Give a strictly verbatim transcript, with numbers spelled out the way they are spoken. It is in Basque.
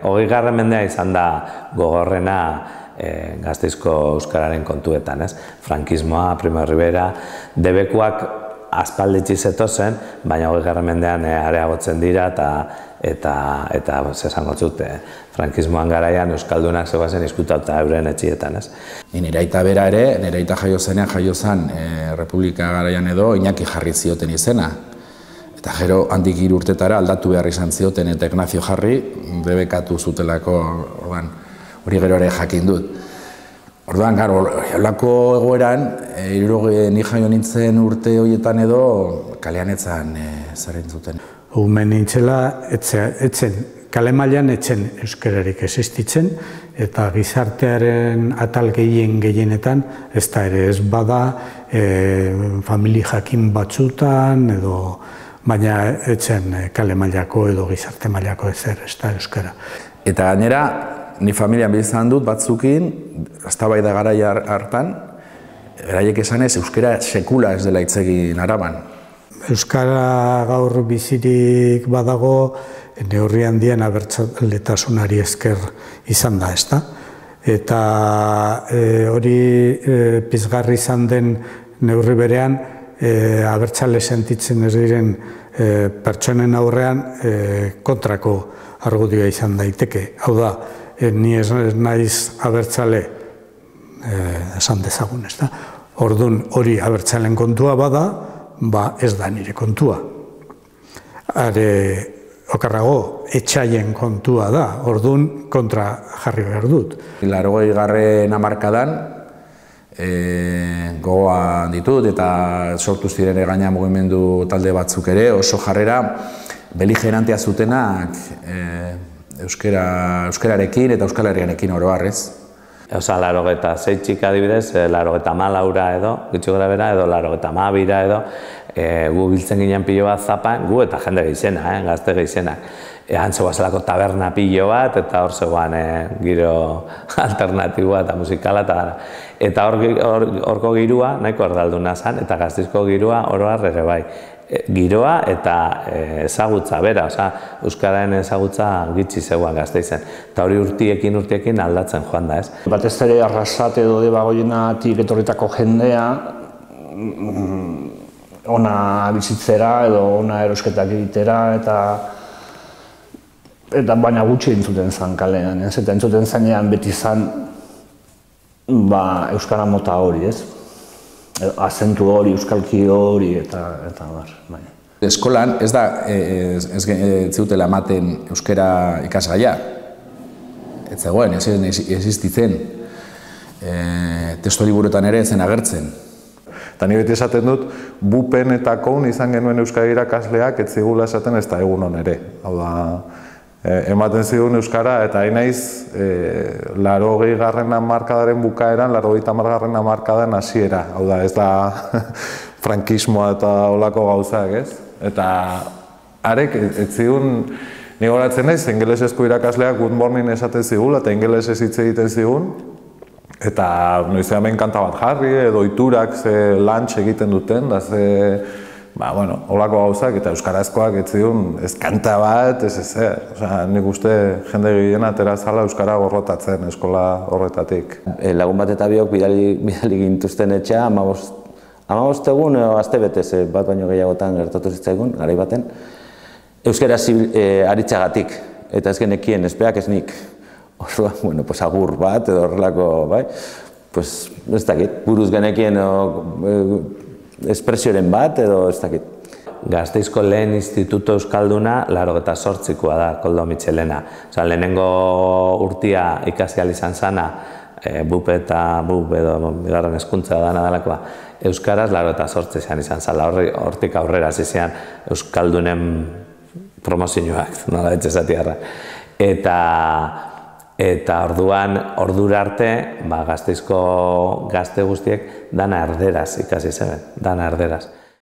Hogeigarren mendea izan da gogorrena e, Gasteizko euskararen kontuetan, ez? Frankismoa, Primo de Rivera, debekuak aspalditzi zetozen, baina hogeigarren mendean e, areagotzen dira eta eta eta esango dut e, frankismoan garaian euskaldunak zegoazen izkutatuta euren etxietan, ez? Nire aita bera ere, nire aita jaio zenean jaio zen e, Republika garaian edo Iñaki jarri zioten izena. Eta gero handik hiru urtetara aldatu behar izan zioten eta Ignacio jarri debekatu zutelako, orduan, hori gero ere jakin dut. Orduan, gara, holako egoeran, hirurogei ni jaio nintzen urte horietan edo kalean etzan e, zer entzuten. Umen nintzela, etzen, kale mailan etzen euskararik existitzen, eta gizartearen atal gehien gehienetan, ez da ere ez bada, e, famili jakin batzutan, edo baina etzen kale mailako edo gizarte mailako ezer, ez da euskara. Eta gainera, ni familian bizan dut batzukin, eztabaida garaia hartan, beraiek esanez euskara sekula ez dela hitz egin Araban. Euskara gaur bizirik badago, neurri handien abertzaletasunari esker izan da, ez da? Eta e, hori e, pizgarri izan den neurri berean, e, abertzale sentitzen ez diren e, pertsonen aurrean e, kontrako argudioa izan daiteke. Hau da, e, ni ez naiz abertzale e, esan dezagun, ez da? Orduan hori abertzalen kontua bada, ba ez da nire kontua. Are, okarrago, etxaien kontua da, orduan kontra jarri behar dut. Laurogei garren hamarkadan e, gogoan ditut eta sortu ziren gaina mugimendu talde batzuk ere, oso jarrera beligerantea zutenak e, euskara, euskararekin eta euskal herriarekin oro har, ez? Osa, laurogeta zeitxik adibidez, laurogeta malaura edo, gitxo gara bera, edo laurogeta mabira edo, e, gu biltzen ginen pilo bat zapan, gu eta jende gehizena, eh, gazte gehizenak. E, Antzegoa zelako taberna pilo bat, eta hor zegoan e, giro alternatiboa eta musikala, eta eta horko or, girua nahiko erdalduna zen, eta Gasteizko girua oro har ere bai. E, giroa eta e, ezagutza bera, oza, euskararen ezagutza gitxi zegoan Gasteizen. Eta hori urtiekin urtiekin aldatzen joan da, ez? Batez ere Arrasate edo Debagoienatik etorritako jendea ona bizitzera edo ona erosketak egitera eta eta baina gutxi entzuten zen kalean, ez? Eta entzuten zenean beti zen ba, euskara mota hori, ez? Azentu hori, euskalki hori eta eta bar, bai. Eskolan ez da ez, ez, ez zutela ematen euskara ikasgaia. Ez zegoen, ez existitzen. E, testu liburuetan ere zen agertzen. Eta ni beti esaten dut, bupen eta koun izan genuen euskara irakasleak ez zigula esaten ez da egunon ere. Hau da, e, ematen zigun euskara eta hain naiz e, laurogei garren hamarkadaren bukaeran, laurogeita hamar garren hamarkadan hasiera. Hau da, ez da frankismoa eta olako gauzak, ez? Eta arek ez zigun, ni goratzen naiz, ingelesezko irakasleak good morning esaten zigula eta ingelesez hitz egiten zigun. Eta noizean behin kanta bat jarri edo iturak ze lunch egiten duten, da ze, ba, bueno, holako gauzak eta euskarazkoak ez zigun, ez kanta bat, ez ez, osea, nik uste jende gehien atera zala euskara gorrotatzen eskola horretatik. E, lagun bat eta biok bidali, bidali gintuzten etxea, hamabost, hamabost egun edo aste betez bat baino gehiagotan gertatu zitzaigun, garai baten, euskara e, aritzagatik, eta ez genekien, ezpeak ez nik. Orduan, bueno, pues agur bat edo horrelako, bai, pues ez dakit, buruz genekien espresioren bat edo ez dakit. Gasteizko lehen instituto euskalduna laurogeta zortzikoa da, Koldo Mitxelena. Osa, lehenengo urtia ikasi ahal izan zana, e, bup eta bup edo bigarren hezkuntza dana dalakoa, euskaraz laurogeta zortzian izan zala, hortik aurrera zizean euskaldunen promozioak, nola etxezatiarra. Eta Eta orduan, ordura arte, ba, Gasteizko gazte guztiek dana erderaz ikasi zeben, dana erderaz.